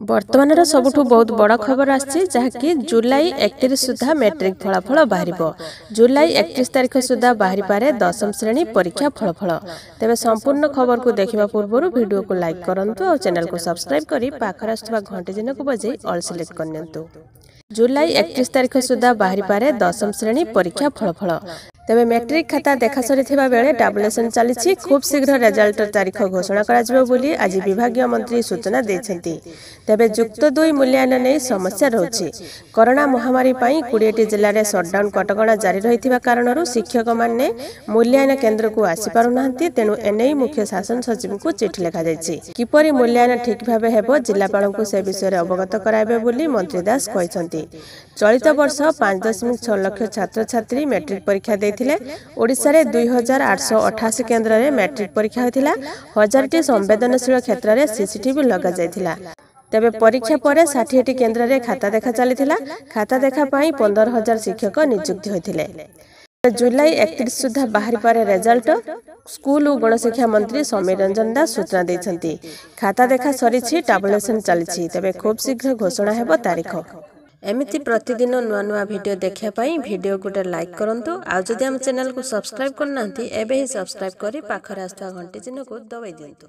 ବର୍ତ୍ତମାନର ସବୁଠୁ ବହୁତ ବଡ଼ ଖବର ଆସିଛି, ଯାହାକି ଜୁଲାଇ 31 ସୁଦ୍ଧା ମେଟ୍ରିକ୍ ଫଳାଫଳ ବାହାରିବ। ଜୁଲାଇ 31 ତାରିଖ ସୁଦ୍ଧା ବାହାରିପାରେ ଦଶମ ଶ୍ରେଣୀ ପରୀକ୍ଷା ଫଳାଫଳ। ତେବେ ସମ୍ପୂର୍ଣ୍ଣ ଖବରକୁ ଦେଖିବା ପୂର୍ବରୁ ଭିଡ଼ିଓକୁ ଲାଇକ୍ କରନ୍ତୁ ଆଉ ଚ୍ୟାନେଲକୁ ସବସ୍କ୍ରାଇବ୍ କରି ପାଖରେ ଆସୁଥିବା ଘଣ୍ଟି ଚିହ୍ନକୁ ବଜାଇ ଅଲ୍ ସିଲେକ୍ଟ କରିନିଅନ୍ତୁ। ଜୁଲାଇ 31 ତାରିଖ ସୁଦ୍ଧା ବାହାରିପାରେ ଦଶମ ଶ୍ରେଣୀ ପରୀକ୍ଷା ଫଳାଫଳ। ତେବେ ମେଟ୍ରିକ୍ ଖାତା ଦେଖା ସରିଥିବା ବେଳେ ଟାବୁଲେସନ୍ ଚାଲିଛି। ଖୁବ୍ ଶୀଘ୍ର ରେଜଲ୍ଟ ତାରିଖ ଘୋଷଣା କରାଯିବ ବୋଲି ଆଜି ବିଭାଗୀୟ ମନ୍ତ୍ରୀ ସୂଚନା ଦେଇଛନ୍ତି। ତେବେ ଯୁକ୍ତ ଦୁଇ ମୂଲ୍ୟାୟନ ନେଇ ସମସ୍ୟା ରହୁଛି। କରୋନା ମହାମାରୀ ପାଇଁ 20ଟି ଜିଲ୍ଲାରେ ସଟ୍ଡାଉନ୍ କଟକଣା ଜାରି ରହିଥିବା କାରଣରୁ ଶିକ୍ଷକମାନେ ମୂଲ୍ୟାୟନ କେନ୍ଦ୍ରକୁ ଆସିପାରୁନାହାନ୍ତି। ତେଣୁ ଏନେଇ ମୁଖ୍ୟ ଶାସନ ସଚିବଙ୍କୁ ଚିଠି ଲେଖାଯାଇଛି। କିପରି ମୂଲ୍ୟାୟନ ଠିକ୍ ଭାବେ ହେବ, ଜିଲ୍ଲାପାଳଙ୍କୁ ସେ ବିଷୟରେ ଅବଗତ କରାଇବେ ବୋଲି ମନ୍ତ୍ରୀ ଦାସ କହିଛନ୍ତି। ଚଳିତ ବର୍ଷ 5.6 ଲକ୍ଷ ଛାତ୍ରଛାତ୍ରୀ ମେଟ୍ରିକ୍ ପରୀକ୍ଷା ଦେଇଥିଲେ। ଓଡ଼ିଶାରେ 2888 କେନ୍ଦ୍ରରେ ମେଟ୍ରିକ୍ ପରୀକ୍ଷା ହୋଇଥିଲା। ହଜାରଟି ସମ୍ବେଦନଶୀଳ କ୍ଷେତ୍ରରେ ସିସିଟିଭି ଲଗାଯାଇଥିଲା। ତେବେ ପରୀକ୍ଷା ପରେ 60ଟି କେନ୍ଦ୍ରରେ ଖାତା ଦେଖା ଚାଲିଥିଲା। ଖାତା ଦେଖା ପାଇଁ 15,000 ଶିକ୍ଷକ ନିଯୁକ୍ତି ହୋଇଥିଲେ। ଜୁଲାଇ 31 ସୁଦ୍ଧା ବାହାରିପାରେ ରେଜଲ୍ଟ, ସ୍କୁଲ ଓ ଗଣଶିକ୍ଷା ମନ୍ତ୍ରୀ ସମୀର ରଞ୍ଜନ ଦାଶ ସୂଚନା ଦେଇଛନ୍ତି। ଖାତା ଦେଖା ସରିଛି, ଟାବୁଲେସନ୍ ଚାଲିଛି। ତେବେ ଖୁବ୍ ଶୀଘ୍ର ଘୋଷଣା ହେବ ତାରିଖ। ଏମିତି ପ୍ରତିଦିନ ନୂଆ ନୂଆ ଭିଡ଼ିଓ ଦେଖିବା ପାଇଁ ଭିଡ଼ିଓ ଗୋଟେ ଲାଇକ୍ କରନ୍ତୁ, ଆଉ ଯଦି ଆମ ଚ୍ୟାନେଲକୁ ସବସ୍କ୍ରାଇବ୍ କରିନାହାନ୍ତି, ଏବେ ହିଁ ସବସ୍କ୍ରାଇବ୍ କରି ପାଖରେ ଆସୁଥିବା ଘଣ୍ଟି ଚିହ୍ନକୁ ଦବାଇ ଦିଅନ୍ତୁ।